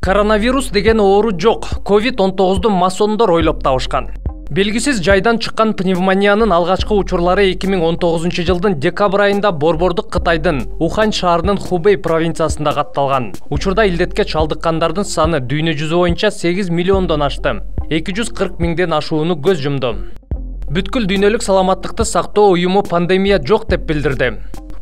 Коронавирус деген оору жок. COVID-19 масондор ойлоп табышкан. Белгисиз жайдан чыккан пневмониянын алгачкы учурлары 2019 жылдын декабрь айында борбордук Кытайдын Ухань шаарынын Хубэй провинциясында катталган. Учурда илдетке чалдыккандардын саны дүйнө жүзү боюнча 8 миллиондон ашты. 240 миңден ашууну көз жумду. Бүткүл дүйнөлүк саламаттыкты сактоо уюму пандемия жок деп билдирди.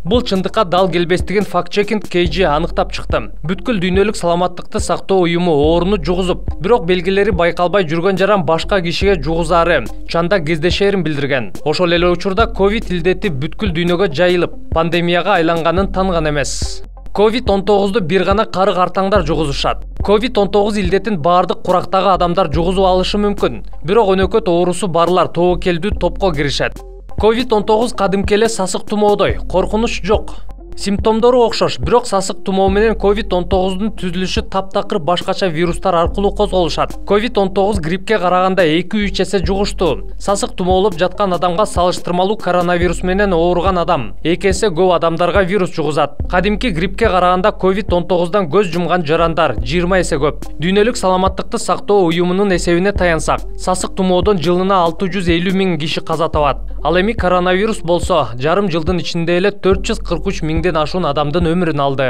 Бул чындыкка дал келбестигин факт-чекинг KG аныктап чыкты. Бүткүл дүйнөлүк саламаттыкты сактоо уюму ооруну жугузуп, бирок белгилери байкалбай жүргөн жаран башка кишиге жугузаары, чанда кездешерин билдирген. Ошол эле учурда ковид илдети бүткүл дүйнөгө жайылып, пандемияга айланганын танган эмес. COVID-19 бир гана карык артаңдар жугузушат. COVID-19 илдетин бардык курактагы адамдар жугузуп алышы мүмкүн. Бирок өнөкөт оорусу барлар тобокелдүү топко киришет. COVID-19 кадимки эле сасык тумоодой, коркунуч жок. Симптомдору окшош, бирок сасык тумоо менен COVID-19дун түзүлүшү таптакыр башкача вирустар аркылуу козголушат. COVID-19 гриппке караганда 2-3 эсе жугуштуу. Сасык тумоолоп жаткан адамга салыштырмалуу коронавирус менен ооруган адам 2 эсе көп адамдарга вирус жугузат. Кадимки гриппке караганда COVID-19дан көз жумган жарандар 20 эсе көп. Дүйнөлүк саламаттыкты сактоо уюмунун эсебине таянсак, сасык тумоодон жылына 650 миң киши каза табат. Ал эми коронавирус болсо, жарым жылдын ичинде эле 443 миңден ашуун адамдын өмүрүн алды.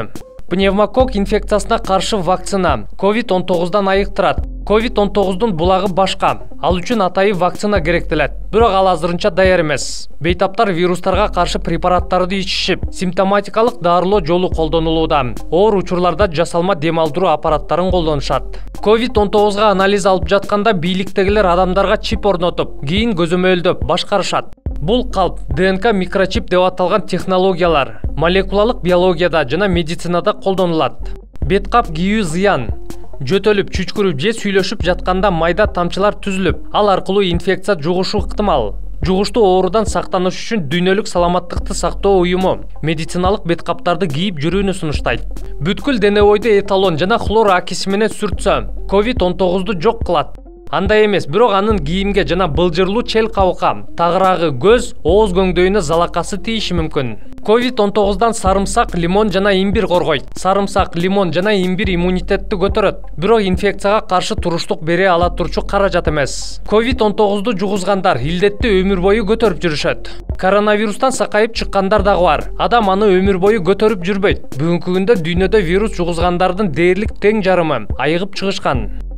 Пневмокок инфекциясына каршы вакцина COVID-19дан айыктырат. COVID-19дун булагы башка. Ал үчүн атайын вакцина керектелет. Бирок ал азырынча даяр эмес. Бейтаптар вирустарга каршы препараттарды ичишип, симптоматикалык дарылоо жолу колдонулууда. Оор учурларда жасалма дем алдыруу аппараттарын колдонушат. COVID-19га анализ алып жатканда бийликтегилер адамдарга чип орнотуп, кийин көзөмөлдөп башкарышат. Бул калп ДНК микрочип деп аталган технологиялар молекулалык биологияда жана медицинада колдонулат. Бет кап кийүү зыян. Жөтөлүп, чүчкүрүп же сүйлөшүп жатканда майда тамчылар түзүлүп, ал аркылуу инфекция жугушу ыктымал. Жугуштуу оорудан сактаныш үчүн дүйнөлүк саламаттыкты сактоо уюму медициналык бет каптарды кийип жүрүүнү сунуштайт. Бүткүл дене бойду эталон жана хлор акиси менен сүртсө, COVID-19ду жок кылат. Андай эмес, бирок анын кийимге жана былжырлуу чел кабыкка, тагыраагы, көз, ооз көңдөйүнө залакасы тийиши мүмкүн. COVID-19дан сарымсак, лимон жана имбир коргойт. Сарымсак, лимон жана имбир иммунитетти көтөрөт, бирок инфекцияга каршы туруштук бере ала турчу каражат эмес. COVID-19ду жугузгандар илдетти өмүр бою көтөрүп жүрүшөт. Коронавирустан сакайып чыккандар дагы бар. Адам аны өмүр бою көтөрүп жүрбөйт. Бүгүнкү күндө дүйнөдө вирус жугузгандардын дээрлик тең жарымы айыгып чыгышкан.